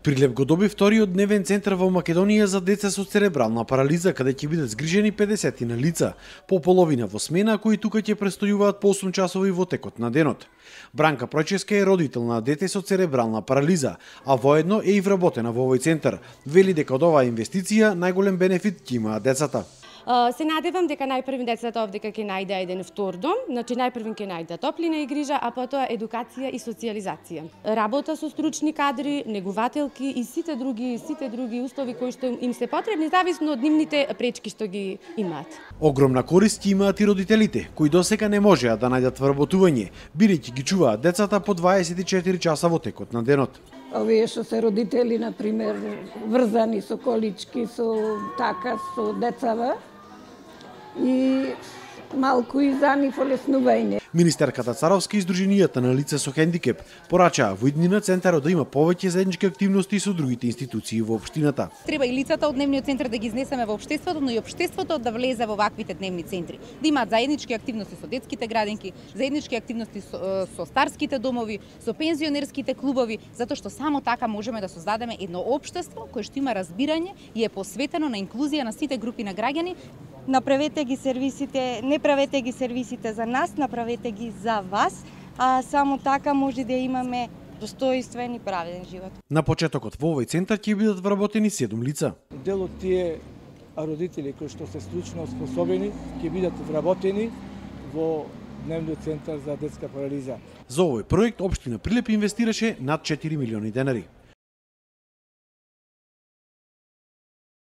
Прилеп го доби вториот дневен центар во Македонија за деца со церебрална парализа, каде ќе бидат згрижени 50 на лица, по половина во смена, кои тука ќе престојуваат по 8 часови во текот на денот. Бранка Пројческа е родител на дете со церебрална парализа, а воедно е и вработена во овој центар. Вели дека од оваа инвестиција најголем бенефит ќе имаат децата. Се надевам дека најпрви децата овдека ќе најде еден втор дом, значи најпрви ќе најде топлина и грижа, а потоа едукација и социјализација. Работа со стручни кадри, негувателки и сите други услови кои што им се потребни зависно од нивните пречки што ги имаат. Огромна корист ќе имаат и родителите, кои досега не можеа да најдат вработување, бидејќи ги чуваат децата по 24 часа во текот на денот. Овие што се родители, например, врзани со колички, со децава, и малку и за нив олеснување. Министерката Царовска и Сдруженијата на лица со хендикеп порачаа во иднина центарот да има повеќе заеднички активности со другите институции во општината. Треба и лицата од дневниот центар да ги изнесеме во општеството, но и општеството да влезе во ваквите дневни центри. Да имаат заеднички активности со детските градинки, заеднички активности со старските домови, со пензионерските клубови, затоа што само така можеме да создадеме едно општество кое што има разбирање и е посветено на инклузија на сите групи на граѓани. Направете ги сервисите, не правете ги сервисите за нас, направете ги за вас, а само така може да имаме достоинствен и праведен живот. На почетокот во овој центар ќе бидат вработени 7 лица. Дел од тие родители кои што се стручно способени ќе бидат вработени во дневниот центар за детска парализа. За овој проект општина Прилеп инвестираше над 4 милиони денари.